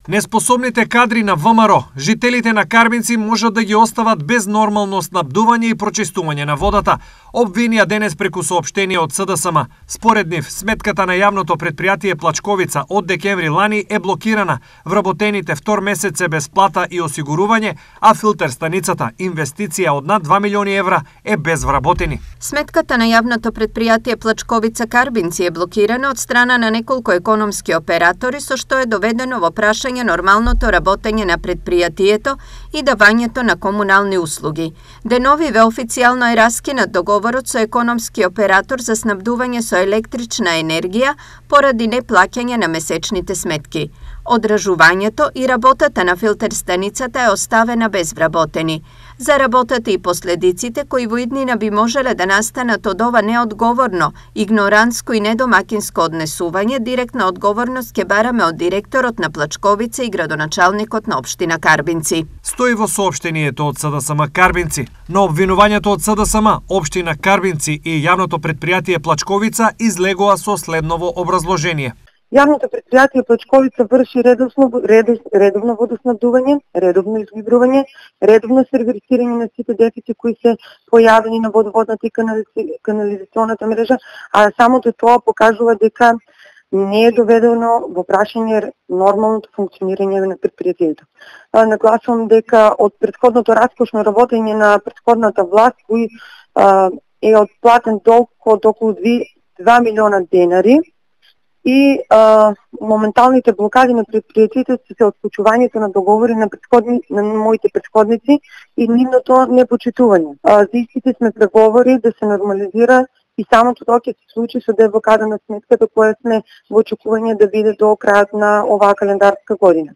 Неспособните кадри на ВМРО, жителите на Карбинци можат да ги остават без нормално снабдување и прочистување на водата, обвинија денес преку соопштение од СДСМ. Според нив, сметката на јавното предпријатие Плачковица од декември лани е блокирана, вработените втор месец е без плата и осигурување, а филтер станицата, инвестиција од над 2 милиони евра, е без вработени. Сметката на јавното предпријатие Плачковица Карбинци е блокирана од страна на неколку економски оператори, со што е доведено во прашање нормалното работење на предпријатието и давањето на комунални услуги. Деновиве официјално е раскинат договорот со економски оператор за снабдување со електрична енергија поради неплаќање на месечните сметки. Одржувањето и работата на филтер станицата е оставена без вработени. За работата и последиците кои во иднина би можеле да настанат од ова неодговорно, игнорантско и недомакинско однесување, директна одговорност ќе бараме од директорот на Плачковица и градоначалникот на општина Карбинци. Стои во соопштението од СДСМ Карбинци. Но обвинувањето од СДСМ, општина Карбинци и јавното предпријатие Плачковица излегоа со следново образложение. Јавното предпријатие Плачковица врши редовно водоснабдување, редовно изгибрување, редовно сервисирање на сите дефицити кои се појавени на водоводната и канализационата мрежа, а самото тоа покажува дека не е доведено во прашање нормалното функционирање на предпријатието. Нагласувам дека од претходното раскошно работење на претходната власт кој е отплатен долг од околу 2 милиона денари, и моменталните блокади на предпријатите се отклучувањето на договори на моите претходници и нивното непочитување. За истите сме преговори да се нормализира и самото тоа ќе се случи со деблокада на сметката која сме во очекување да биде до крајот на оваа календарска година.